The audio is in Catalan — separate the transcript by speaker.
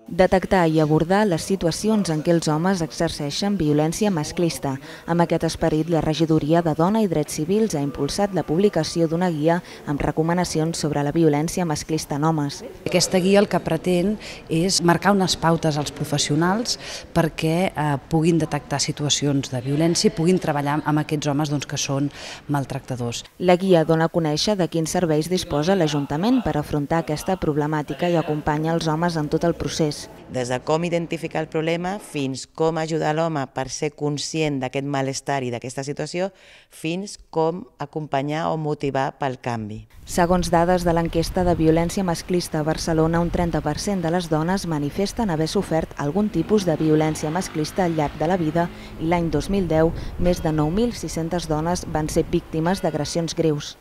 Speaker 1: Detectar i abordar les situacions en què els homes exerceixen violència masclista. Amb aquest esperit, la Regidoria de Dona i Drets Civils ha impulsat la publicació d'una guia amb recomanacions sobre la violència masclista en homes.
Speaker 2: Aquesta guia el que pretén és marcar unes pautes als professionals perquè puguin detectar situacions de violència i puguin treballar amb aquests homes que són maltractadors.
Speaker 1: La guia dona a conèixer de quins serveis disposa l'Ajuntament per afrontar aquesta problemàtica i acompanya els homes en tot el procés.
Speaker 3: Des de com identificar el problema fins com ajudar l'home per ser conscient d'aquest malestar i d'aquesta situació, fins com acompanyar o motivar pel canvi.
Speaker 1: Segons dades de l'enquesta de violència masclista a Barcelona, un 30% de les dones manifesten haver sofert algun tipus de violència masclista al llarg de la vida i l'any 2010 més de 9.600 dones van ser víctimes d'agressions greus.